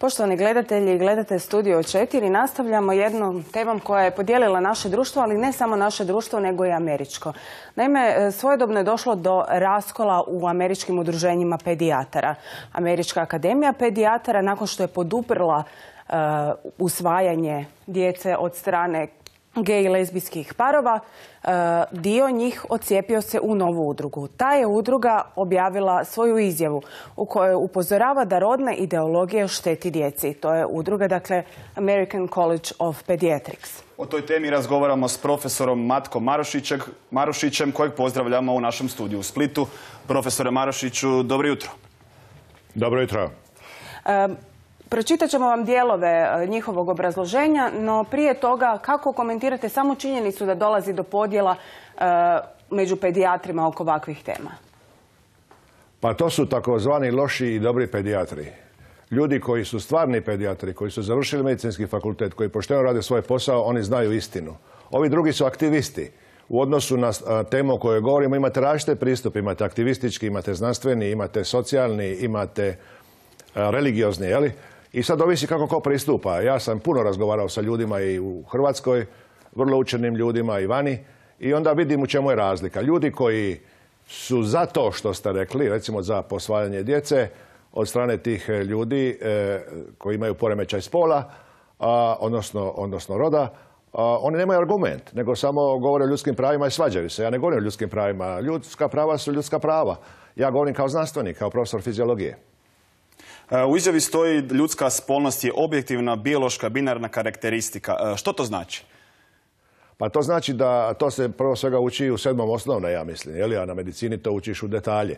Poštovani gledatelji, gledate Studio 4. Nastavljamo jednom temom koja je podijelila naše društvo, ali ne samo naše društvo, nego i američko. Naime, svojedobno je došlo do raskola u američkim udruženjima pedijatara. Američka akademija pedijatara, nakon što je poduprla usvajanje djece od strane gej i lezbijskih parova, dio njih odcijepio se u novu udrugu. Ta je udruga objavila svoju izjavu u kojoj upozorava da rodna ideologija šteti djeci. To je udruga, dakle, American College of Pediatrics. O toj temi razgovaramo s profesorom Matkom Marušićem, kojeg pozdravljamo u našem studiju u Splitu. Profesore Marušiću, dobro jutro. Dobro jutro. Pročitat ćemo vam dijelove njihovog obrazloženja, no prije toga kako komentirate samo činjenicu da dolazi do podjela među pedijatrima oko ovakvih tema? Pa to su takozvani loši i dobri pedijatri. Ljudi koji su stvarni pedijatri, koji su završili medicinski fakultet, koji pošteno rade svoj posao, oni znaju istinu. Ovi drugi su aktivisti. U odnosu na temu o kojoj govorimo imate različite pristupe. Imate aktivistički, imate znanstveni, imate socijalni, imate religiozni, jeli? I sad ovisi kako ko pristupa. Ja sam puno razgovarao sa ljudima i u Hrvatskoj, vrlo učenim ljudima i vani, i onda vidim u čemu je razlika. Ljudi koji su za to što ste rekli, recimo za posvajanje djece, od strane tih ljudi koji imaju poremećaj spola, odnosno roda, oni nemaju argument, nego samo govore o ljudskim pravima i svađaju se. Ja ne govorim o ljudskim pravima. Ljudska prava su ljudska prava. Ja govorim kao znanstvenik, kao profesor fiziologije. U izjavi stoji ljudska spolnost je objektivna, biološka, binarna karakteristika. Što to znači? Pa to znači da to se prvo svega uči u 7. osnovne, ja mislim, a na medicini to učiš u detalje.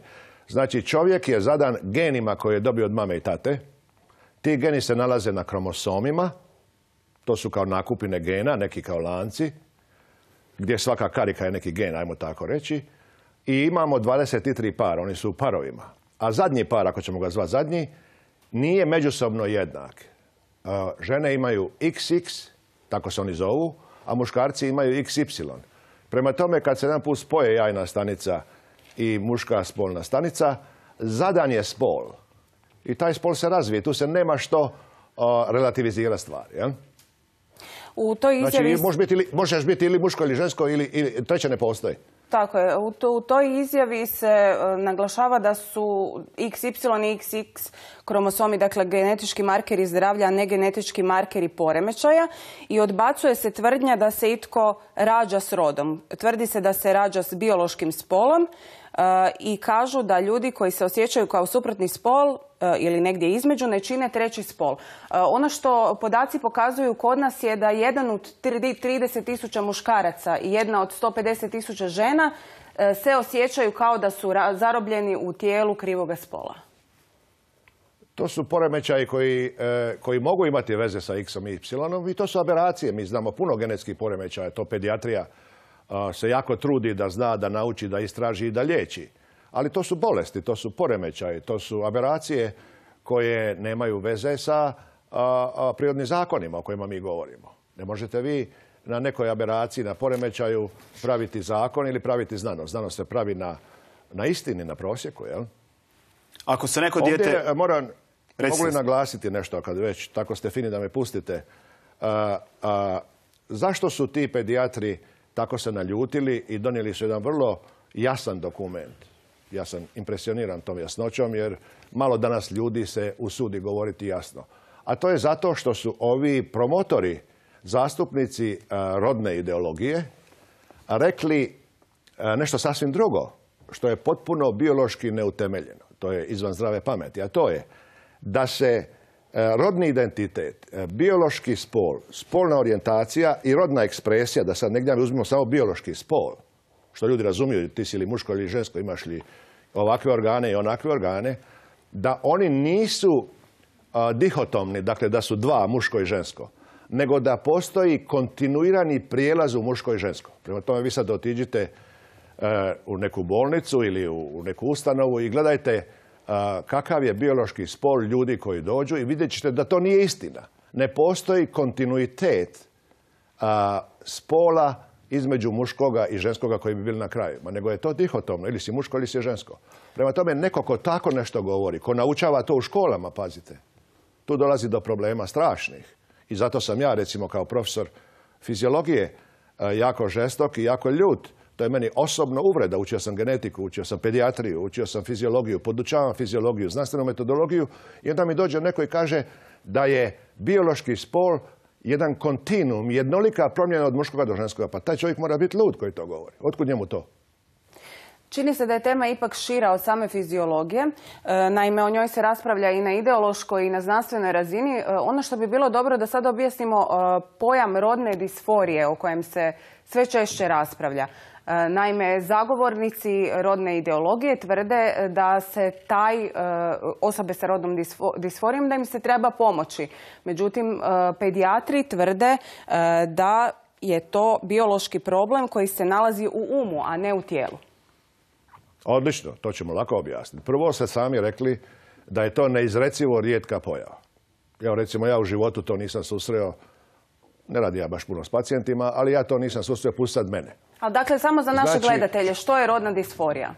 Znači, čovjek je zadan genima koje je dobio od mame i tate. Ti geni se nalaze na kromosomima, to su kao nakupine gena, neki kao lanci, gdje svaka karika je neki gen, ajmo tako reći. I imamo 23 para, oni su u parovima. A zadnji par, ako ćemo ga zvati zadnji, nije međusobno jednak. Žene imaju XX, tako se oni zovu, a muškarci imaju XY. Prema tome, kad se jedan put spoje jajna stanica i muška spolna stanica, zadan je spol. I taj spol se razvije. Tu se nema što relativizirati stvari. Ja? U toj izjavi... Znači, možeš biti ili muško ili žensko ili treće ne postoji. Tako je. U toj izjavi se naglašava da su XY i XX kromosomi, dakle genetički markeri zdravlja, a ne genetički markeri poremećaja, i odbacuje se tvrdnja da se itko rađa s rodom. Tvrdi se da se rađa s biološkim spolom i kažu da ljudi koji se osjećaju kao suprotni spol ili negdje između ne čine treći spol. Ono što podaci pokazuju kod nas je da jedan od 30.000 muškaraca i jedna od 150.000 žena se osjećaju kao da su zarobljeni u tijelu krivoga spola. To su poremećaji koji mogu imati veze sa X-om i Y-om i to su aberacije. Mi znamo puno genetskih poremećaja, to pedijatrija se jako trudi da zna, da nauči, da istraži i da liječi. Ali to su bolesti, to su poremećaji, to su aberacije koje nemaju veze sa prirodnim zakonima o kojima mi govorimo. Ne možete vi na nekoj aberaciji, na poremećaju praviti zakon ili praviti znanost. Znanost se pravi na istini, na prosjeku, jel? Ako se neko dijete... Mogu li naglasiti nešto, kad već tako ste fini da me pustite? Zašto su ti pedijatri tako se naljutili i donijeli su jedan vrlo jasan dokument? Ja sam impresioniran tom jasnoćom jer malo danas ljudi se usudi govoriti jasno. A to je zato što su ovi promotori, zastupnici rodne ideologije, rekli nešto sasvim drugo, što je potpuno biološki neutemeljeno. To je izvan zdrave pameti, a to je da se rodni identitet, biološki spol, spolna orijentacija i rodna ekspresija, da sad negdje uzmemo samo biološki spol, što ljudi razumiju, ti si li muško ili žensko, imaš li ovakve organe i onakve organe, da oni nisu dihotomni, dakle da su dva, muško i žensko, nego da postoji kontinuirani prijelaz u muško i žensko. Prema tome vi sad otiđite u neku bolnicu ili u neku ustanovu i gledajte kakav je biološki spol ljudi koji dođu i vidjet ćete da to nije istina. Ne postoji kontinuitet spola između muškoga i ženskoga koji bi bili na kraju. Nego je to dihotomno, ili si muško ili si žensko. Prema tome, neko ko tako nešto govori, ko naučava to u školama, pazite, tu dolazi do problema strašnih. I zato sam ja, recimo, kao profesor fiziologije, jako žestok i jako ljut. To je meni osobno uvreda. Učio sam genetiku, učio sam pedijatriju, učio sam fiziologiju, podučavam fiziologiju, znanstvenu metodologiju i onda mi dođe neko i kaže da je biološki spol jedan kontinuum, jednolika promjena od muškoga do ženskoga. Pa taj čovjek mora biti lud koji to govori. Otkud njemu to? Čini se da je tema ipak šira od same fiziologije. Naime, o njoj se raspravlja i na ideološkoj i na znanstvenoj razini. Ono što bi bilo dobro da sad objasnimo pojam rodne disforije o kojem se sve češće raspravlja. Naime, zagovornici rodne ideologije tvrde da se osobe sa rodnom disforijom da im se treba pomoći. Međutim, pedijatri tvrde da je to biološki problem koji se nalazi u umu, a ne u tijelu. Odlično, to ćemo lako objasniti. Prvo ste sami rekli da je to neizrecivo rijetka pojava. Evo, recimo, ja u životu to nisam susreo, ne radi ja baš puno s pacijentima, ali ja to nisam susreo, pusti sad mene. A dakle, samo za naše gledatelje, što je rodna disforija?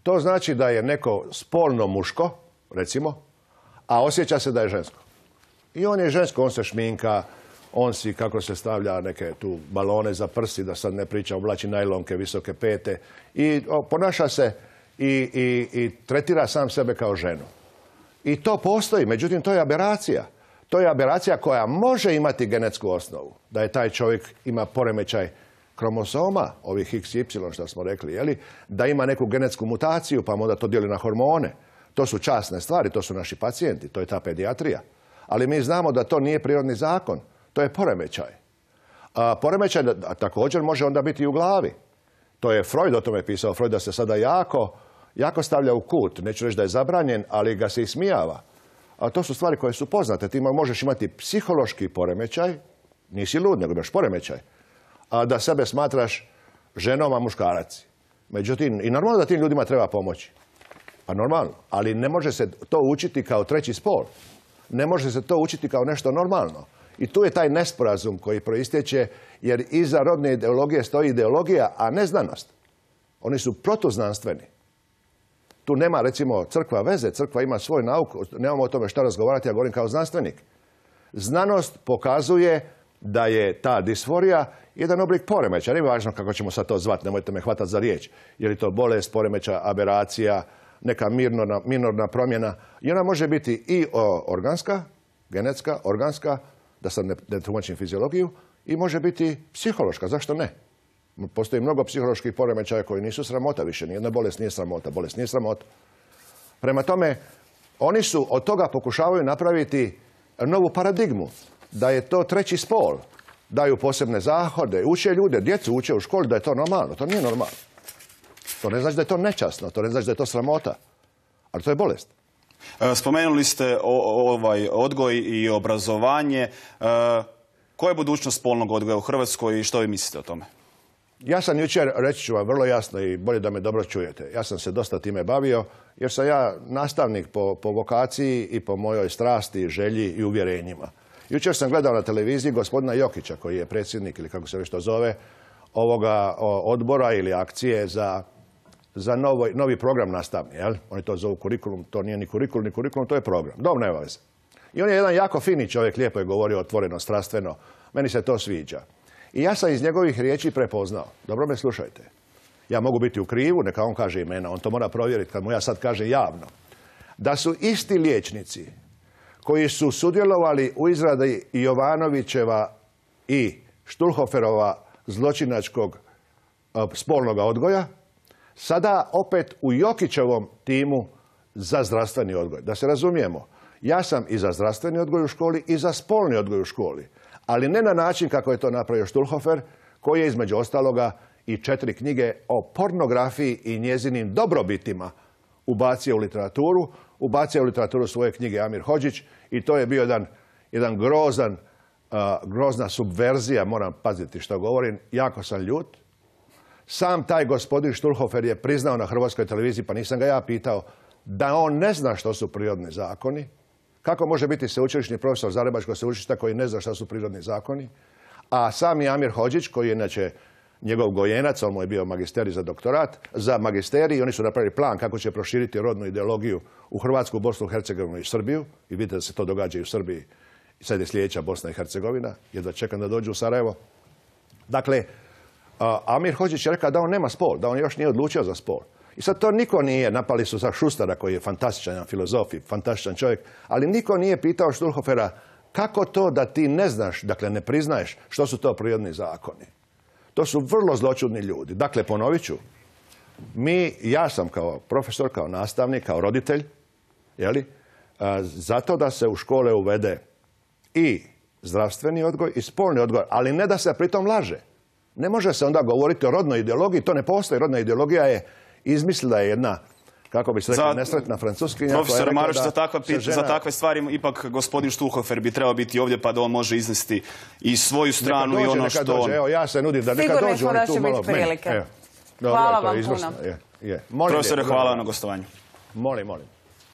To znači da je neko spolno muško, recimo, a osjeća se da je žensko. I on je žensko, on se šminka, on si, kako se stavlja, neke tu balone za prsi, da sad ne pričam, oblači najlonke, visoke pete. I ponaša se i tretira sam sebe kao ženu. I to postoji, međutim, to je aberacija. To je aberacija koja može imati genetsku osnovu. Da je taj čovjek ima poremećaj kromosoma, ovih XY što smo rekli, jeli? Da ima neku genetsku mutaciju, pa onda to dijeli na hormone. To su časne stvari, to su naši pacijenti, to je ta pedijatrija. Ali mi znamo da to nije prirodni zakon. To je poremećaj. Poremećaj također može onda biti i u glavi. To je Freud o tome pisao. Freud da se sada jako stavlja u kut. Neću reći da je zabranjen, ali ga se ismijava. A to su stvari koje su poznate. Ti možeš imati psihološki poremećaj, nisi lud, nego imaš poremećaj, a da sebe smatraš ženom, a muškarac. Međutim, i normalno da tim ljudima treba pomoći. Pa normalno. Ali ne može se to učiti kao treći spol. Ne može se to učiti kao nešto normalno. I tu je taj nesporazum koji proistječe, jer iza rodne ideologije stoji ideologija, a ne znanost. Oni su protuznanstveni. Tu nema, recimo, crkva veze, crkva ima svoj nauk, nemamo o tome šta razgovarati, ja govorim kao znanstvenik. Znanost pokazuje da je ta disforija jedan oblik poremećaja. Nije važno kako ćemo sad to zvati, nemojte me hvatati za riječ. Je li to bolest, poremećaj, aberacija, neka minorna promjena. I ona može biti i organska, genetska, organska, da sad ne tumačim fiziologiju, i može biti psihološka. Zašto ne? Postoji mnogo psiholoških poremećaja koji nisu sramota više. Nijedna bolest nije sramota. Bolest nije sramota. Prema tome, oni su od toga pokušavaju napraviti novu paradigmu. Da je to treći spol. Daju posebne zahode. Uče ljude, djecu uče u školi da je to normalno. To nije normalno. To ne znači da je to nečasno. To ne znači da je to sramota. Ali to je bolest. Spomenuli ste odgoj i obrazovanje. Koja je budućnost spolnog odgoja u Hrvatskoj i što vi mislite o tome? Ja sam jučer, reći ću vam vrlo jasno i bolje da me dobro čujete. Ja sam se dosta time bavio jer sam ja nastavnik po vokaciji i po mojoj strasti, želji i uvjerenjima. Jučer sam gledao na televiziji gospodina Jokića koji je predsjednik ili kako se već to zove ovoga odbora ili akcije za novi program nastavni. Jel? Oni to zovu kurikulum, to nije ni kurikulum, to je program. Dobro, nema veze. I on je jedan jako fini čovjek, lijepo je govorio otvoreno, strastveno. Meni se to sviđa. I ja sam iz njegovih riječi prepoznao. Dobro me slušajte. Ja mogu biti u krivu, neka on kaže imena. On to mora provjeriti kad mu ja sad kaže javno. Da su isti liječnici koji su sudjelovali u izradi Jovanovićeva i Štulhoferova zločinačkog spolnog odgoja, sada opet u Jokićevom timu za zdravstveni odgoj. Da se razumijemo, ja sam i za zdravstveni odgoj u školi i za spolni odgoj u školi. Ali ne na način kako je to napravio Štulhofer, koji je između ostaloga i 4 knjige o pornografiji i njezinim dobrobitima ubacio u literaturu. Ubacio u literaturu svoje knjige Amir Hodžić i to je bio jedan grozna subverzija, moram paziti što govorim, jako sam ljut. Sam taj gospodin Štulhofer je priznao na Hrvatskoj televiziji, pa nisam ga ja pitao, da on ne zna što su prirodni zakoni. Kako može biti sveučilišni profesor Zagrebačkog sveučilišta koji ne zna što su prirodni zakoni? A sam je Amir Hodžić, koji je inače njegov gojenac, on mu je bio magisterij za doktorat, za magisterij, i oni su napravili plan kako će proširiti rodnu ideologiju u Hrvatsku, Bosnu, Hercegovinu i Srbiju. I vidite da se to događa i u Srbiji. I sad je sljedeća Bosna i Hercegovina. Jedva čekam da dođu u Sarajevo. Dakle, Amir Hodžić je rekao da on nema spol, da on još nije odlučio za spol. I sad to niko nije, napali su za Šustara koji je fantastičan filozof i fantastičan čovjek, ali niko nije pitao Štulhofera kako to da ti ne znaš, dakle ne priznaješ što su to prirodni zakoni. To su vrlo zločudni ljudi. Dakle, ponovit ću, ja sam kao profesor, kao nastavnik, kao roditelj, zato da se u škole uvede i zdravstveni odgoj i spolni odgoj, ali ne da se pritom laže. Ne može se onda govoriti o rodnoj ideologiji, to ne postoji. Rodna ideologija je izmislila jedna, kako bi se rekla, nesretna Francuskinja. Profesor Maruš, za takve stvari ipak gospodin Štulhofer bi trebao biti ovdje pa da on može iznesti i svoju stranu i ono što on... Evo, ja se nudim da neka dođu oni tu malo... Sigurno da će biti prilike. Hvala vam puno. Profesore, hvala na gostovanju. Molim.